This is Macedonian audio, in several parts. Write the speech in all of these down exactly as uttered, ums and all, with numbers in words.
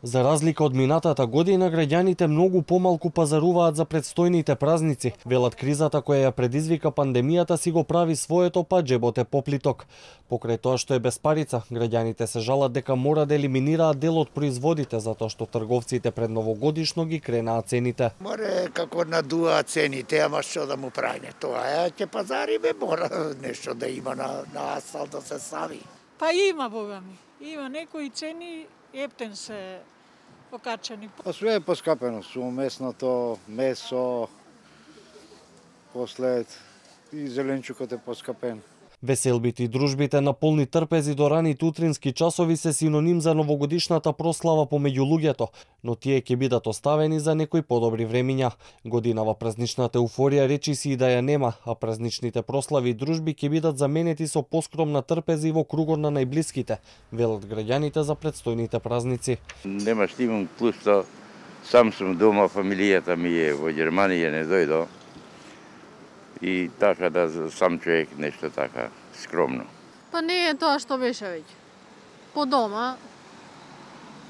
За разлика од минатата година, граѓаните многу помалку пазаруваат за предстојните празници. Велат, кризата која ја предизвика пандемијата си го прави своето, па џебот е поплиток. Покрај тоа што е без парица, граѓаните се жалат дека мора да елиминираат дел од производите затоа што трговците пред новогодишно ги кренаа цените. Море како надуа цените, ама што да му прави тоа е, ќе пазариме, мора нешто да има на, на асфалт да се стави. Па има, бога ми. Има некои цени ептен се покачени. Па све е поскапено, су месното, месо, после и зеленчукот е поскапен. Веселбите и дружбите на полни трпези до раните утрински часови се синоним за новогодишната прослава помеѓу луѓето, но тие ќе бидат оставени за некои подобри времиња. Годинава празничната еуфорија речиси и да ја нема, а празничните прослави и дружби ќе бидат заменети со поскромна трпези во кругот на најблиските, велат граѓаните за предстојните празници. Нема стимум, плюс тоа сам сум дома, фамилијата ми е во Германија, не дојдо. И така да сам човек нешто така скромно. Па не е тоа што беше веќе. По дома,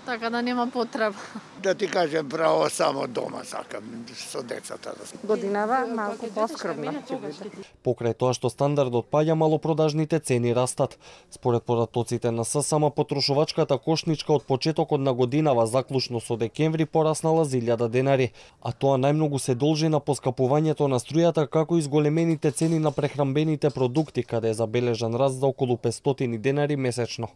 така да нема потреба. Да ти кажем право, само дома сакам со децата. Годинава малку поскромна ќе биде. Покрај тоа што стандардот паѓа, малопродажните цени растат. Според податоците на ССМ, потрошувачката кошничка од почетокот на годинава заклучно со декември пораснала за илјада денари, а тоа најмногу се должи на поскапувањето на струјата, како и зголемените цени на прехранбените продукти, каде е забележан раст за околу петстотини денари месечно.